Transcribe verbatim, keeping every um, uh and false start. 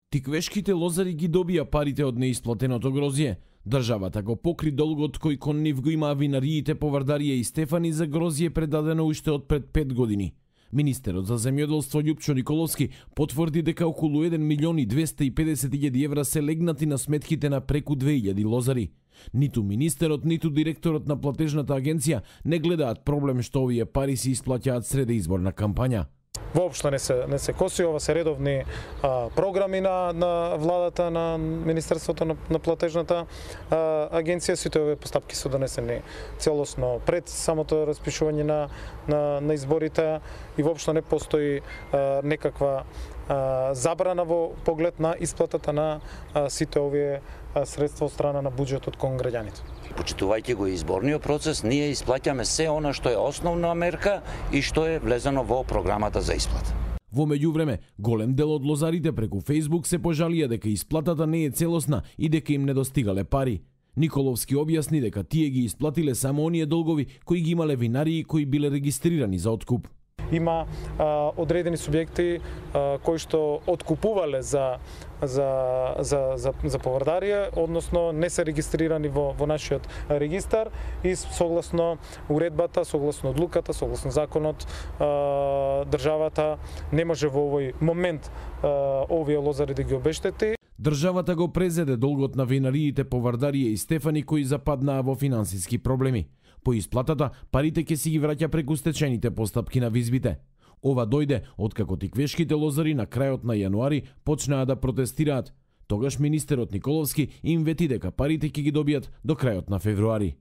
Тиквешките лозари ги добија парите од неисплатеното грозје. Државата го покри долгот кој кон нив го имаа винариите Повардарија и Стефани за грозје предадено уште од пред пет години. Министерот за земјоделство Љупчо Николовски потврди дека околу еден милион и двесте и педесет илјади евра се легнати на сметките на преку две илјади лозари. Ниту министерот, ниту директорот на платежната агенција не гледаат проблем што овие пари се исплаќаат среде изборна кампања. Воопшто не се не се коси, ова се редовни а, програми на на владата, на Министерството на, на платежната а, агенција. Сите овие постапки се донесени целосно пред самото распишување на на, на изборите и воопшто не постои а, некаква а, забрана во поглед на исплатата на а, сите овие а, средства од страна на буџетот кон граѓаните. Почитувајќи го изборниот процес, ние исплаќаме се она што е основна мерка и што е влезено во програмата за исплата. Во меѓувреме, голем дел од лозарите преку Facebook се пожалија дека исплатата не е целосна и дека им недостигале пари. Николовски објасни дека тие ги исплатиле само оние долгови кои ги имале винарии кои биле регистрирани за откуп. Има а, одредени субјекти а, кои што откупувале за за за за, за Повардарија, односно не се регистрирани во во нашиот регистар и согласно уредбата, согласно одлуката, согласно законот, а, државата не може во овој момент а, овие лозари да ги обештети. Државата го презеде долгот на винариите Повардарија и Стефани кои западнаа во финансиски проблеми. По исплатата, парите ќе си ги враќа преку стечените постапки на визбите. Ова дојде откако тиквешките лозари на крајот на јануари почнаа да протестираат. Тогаш министерот Николовски им вети дека парите ќе ги добијат до крајот на февруари.